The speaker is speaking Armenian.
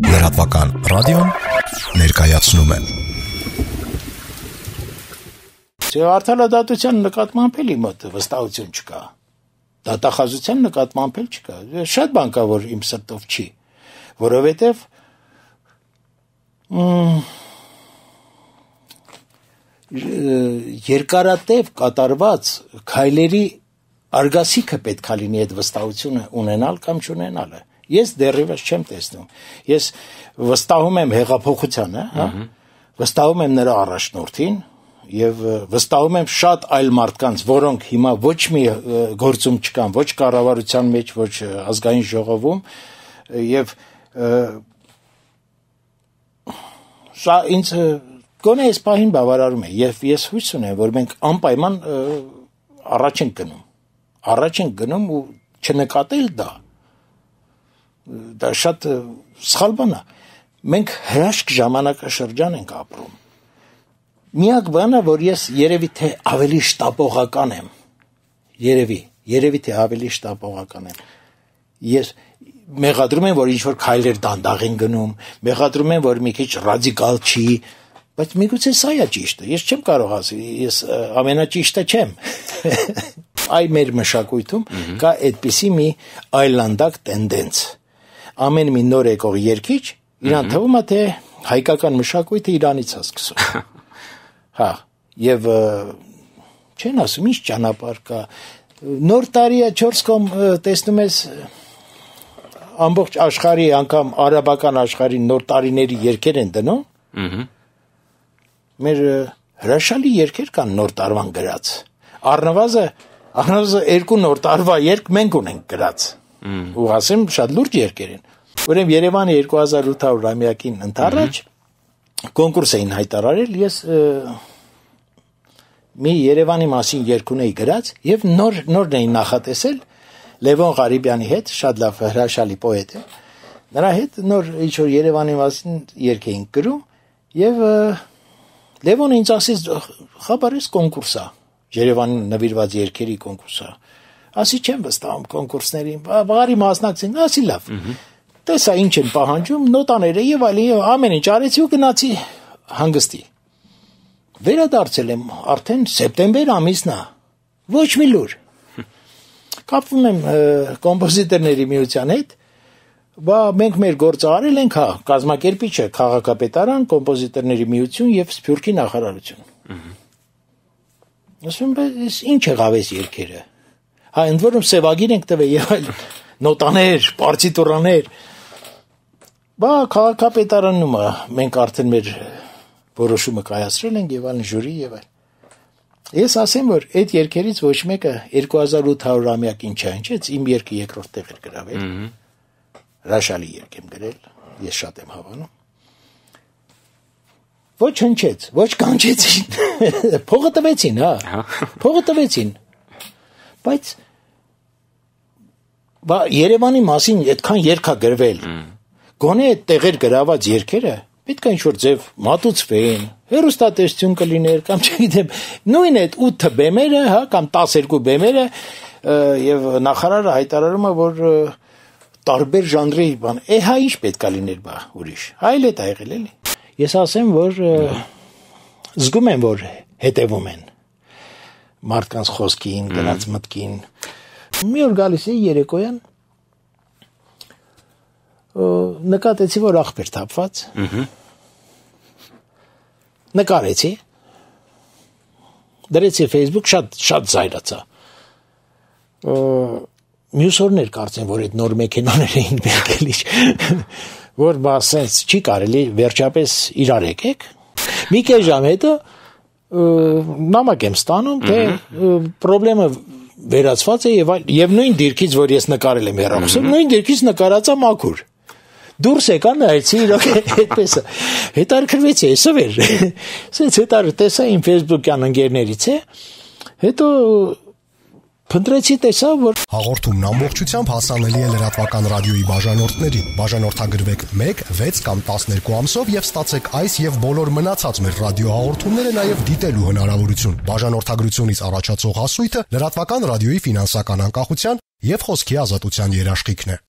Լրատվական ռադիոն ներկայացնում է։ Արդարադատության նկատմամբ էլ իմ մոտ վստահություն չկա։ Դատախազության նկատմամբ էլ չկա։ Շատ բան կա, որ իմ սրտով չի, որովհետև երկարատև կատարված քայլերի արգասիքը պետք է լինի այդ վստահությունը ունենալ կամ չունենալը։ Ես դեռևս չեմ տեսնում։ Ես վստահում եմ հեղափոխությանը, հա, վստահում եմ նրա առաջնորդին եւ վստահում եմ շատ այլ մարդկանց, որոնք հիմա ոչ մի գործում չկան, ոչ կառավարության մեջ, ոչ ազգային ժողովում եւ սա ինձ գոնե այս պահին բավարարում է եւ ես հույս ունեմ, որ մենք անպայման առաջ ենք գնում ու չնկատել դա շատ սխալ բան է։ Մենք հրաշք ժամանակաշրջան ենք ապրում։ Միակ բանը, որ ես երևի թե ավելի շտապողական եմ, երևի թե ավելի շտապողական եմ։ Ես մեղադրում եմ, որ ինչ-որ քայլեր դանդաղ են գնում, մեղադրում եմ, որ մի քիչ ռադիկալ չի, բայց միգուցե սա է ճիշտը։ Ես չեմ կարող ասել, ես ամենաճիշտը չեմ։ Այ մեր մշակույթում կա այդպիսի մի այլանդակ տենդենց։ Ամեն մի նոր եկող երգիչ իրան թվում է, թե հայկական մշակույթը իրանից է սկսում։ Հա, եւ չեն ասում, ինչ ճանապարհ կա։ Նոր տարիը 4 կողմ տեսնում ես ամբողջ աշխարհի, անգամ արաբական աշխարհի նոր տարիների երգեր են դնում։ Մեր հրաշալի երգեր կան նոր տարվան գրած։ Առնվազն 2 նոր տարվա երգ մենք ունենք գրած։ Ու ասեմ, շատ լուրջ երգեր են։ Ուրեմն Երևանի 2800-ամյակին ընթառաջ կոնկուրս էին հայտարարել, ես մի Երևանի մասին երգ ունեի գրած եւ նորն էին նախատեսել Լևոն Ղարիբյանի հետ, շատ լավ հրաշալի պոետ է։ Նրա հետ նոր ինչ-որ Երևանի մասին երգ էին գրում եւ Լևոնը ինձ ասեց, խաբարես կոնկուրս է, Երևանին նվիրված երգերի կոնկուրս է։ Ասի չեմ վստահում կոնկուրսներին, բարի մասնակցին, ասի լավ։ Տեսա ինչ են պահանջում, նոտաները եւ այլն, ամեն ինչ արեցի ու գնացի հանգստի։ Վերադարձել եմ արդեն սեպտեմբեր ամիսն է։ Ոչ մի լուր։ Կապվում եմ կոմպոզիտորների միության հետ, մենք մեր գործը արել ենք, հա, կազմակերպիչը քաղաքապետարան, կոմպոզիտորների միություն եւ Սփյուռքի նախարարություն։ Ասում եմ, ինչ եղավ այս երգերը։ Հա, ընդ որում սևագիր ենք տվել եւ այլ նոտաներ, պարտիտուրաներ։ Քաղաքապետարանում մենք արդեն մեր որոշումը կայացրել ենք եւ այլն ժյուրի եւ այլ։ Ես ասեմ, որ այդ երգերից ոչ մեկը 2800-ամյակին չհնչեց, իմ երգը երկրորդ տեղ էր գրավել։ Հրաշալի երգ եմ գրել, ես շատ եմ հավանում։ Ոչ հնչեց, ոչ կանչեցին։ Փողը տվեցին, հա։ Փողը տվեցին։ Բայց Երևանի մասին այդքան երգ է գրվել։ Գոնե այդ տեղեր գրաված երգերը պետք է ինչ-որ ձև մատուցվեն, հեռուստատեսություն կլիներ կամ չգիտեմ, նույն այդ 8 բեմերը, հա, կամ 12 բեմերը եւ նախարարը հայտարարում է, որ տարբեր ժանրի բան, հա ինչ պետք է լիներ բա ուրիշ։ Այլ է դա եղել էլի։ Ես ասեմ, որ զգում եմ, որ հետևում են մարդկանց խոսքին, դրանց մտքին։ Մի օր գալիս էի երեկոյան, նկատեցի, որ աղբեր թափված, նկարեցի, դրեցի Facebook, շատ զայրացա, մյուս օրներ կարծեմ, որ այդ նոր մեքենաներ էին բերքելի, որ սենց չի կարելի, վերջապես իրար եկեք, մի կես ժամ հետո նամակ եմ ստանում, թե պրոբլեմը վերացված է եւ նույն դիրքից, որ ես նկարել եմ հեռախոսով, նույն դիրքից նկարածա մաքուր։ Դուրս եկա նայեցի իրոք այդպես է։ Հետարքրվեցի, այսով էր։ Սենց տեսա իմ Facebook-յան ընկերներից է, հետո փնտրեցի տեսա, որ հաղորդումն ամբողջությամբ հասանելի է լրատվական ռադիոյի բաժանորդներին։ Բաժանորդագրվեք 1, 6 կամ 12 ամսով եւ ստացեք այս եւ բոլոր մնացած մեր ռադիոհաղորդումները նաեւ դիտելու հնարավորություն։ Բաժանորդագրությունից առաջացող հասույթը լրատվական ռադիոյի ֆինանսական անկախության եւ խոսքի ազատության երաշխիքն է։